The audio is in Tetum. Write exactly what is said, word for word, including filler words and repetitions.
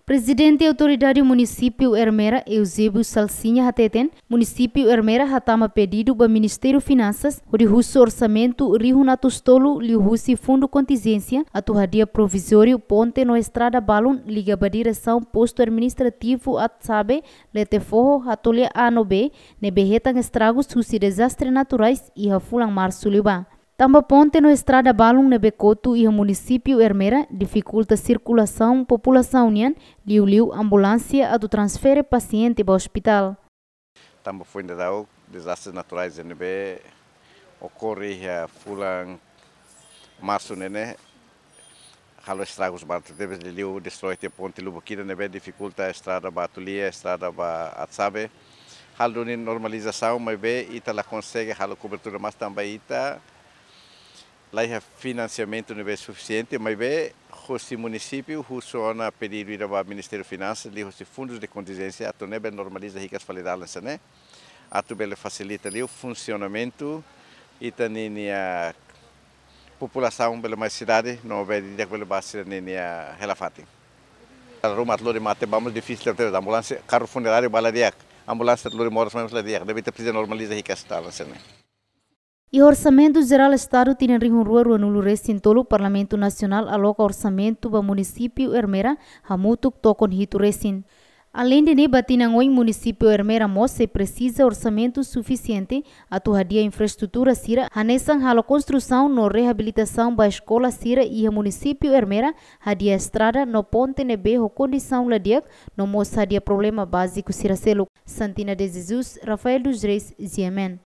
Prezidente Autoridade Munisípiu Ermera, Eusébio Salsinha hateten, Munisípiu Ermera hatama pedidu ba Ministériu Finansas hodi husu orsamentu rihun atus tolu liuhusi fundu kontinjénsia atu hadi'a provizóriu ponte no estrada balun liga ba diresaun postu administrativu Atsabe, Letefoho, Hatolia A no B, ne'ebé hetan estragus husi dezastre naturais iha fulan Marsu liubá. Tanba ponte no estrada balun ne'ebé kotu iha Munisípiu Ermera difikulta sirkulasaun populasaun nian, liuliu ambulánsia atu transfere pasiente ba ospitál. Tanba foin daudaun dezastre naturais ne'ebé okorre iha fulan Marsu ne'e, halo estragus barak tebes, liuliu destroi tiha ponte lubuk ida ne'ebé difikulta estrada ba Hatolia, estrada ba Atsabe. Halo duni normalizasaun, maibé ita la konsege halo kobertura maibé tanba ita laiha finansiamentu ne'ebé sufisiente, maibé hosi munisípiu husu ona pedidu ida ba Ministériu Finansas liuhosi fundus de kontinjénsia atu nune'e bele normaliza hikas fali dalan sira-ne'e, atu bele fasilita liu funsionamentu ita-ninia populasaun bele mai sidade no bele di'ak bele ba sira-ninia hela-fatin. Ruma atu lori mate ba mós difisil, tebes ambulánsia, karru funeráriu ba la di'ak, ambulánsia atu lori moras mai mós la di'ak, ne'ebé ita presiza normaliza hikas dalan sira-ne'e. Iha Orsamentu Jerál Estadu tinan rihun rua ruanulu resin tolu, Parlamentu Nasionál aloka orsamentu ba Munisípiu Ermera hamutuk tokon hitu resin. Aleinde ne'e, ba tinan oin Munisípiu Ermera mós sei presiza orsamentu sufisiente atu hadi'a infraestrutura sira hanesan halo konstrusaun no reabilitasaun ba eskola sira iha Munisípiu Ermera, hadi'a estrada no ponte ne'ebé ho kondisaun la di'ak, no mós hadi'a problema báziku sira seluk. Santina de Jesus, Rafael dos Reis, G M N.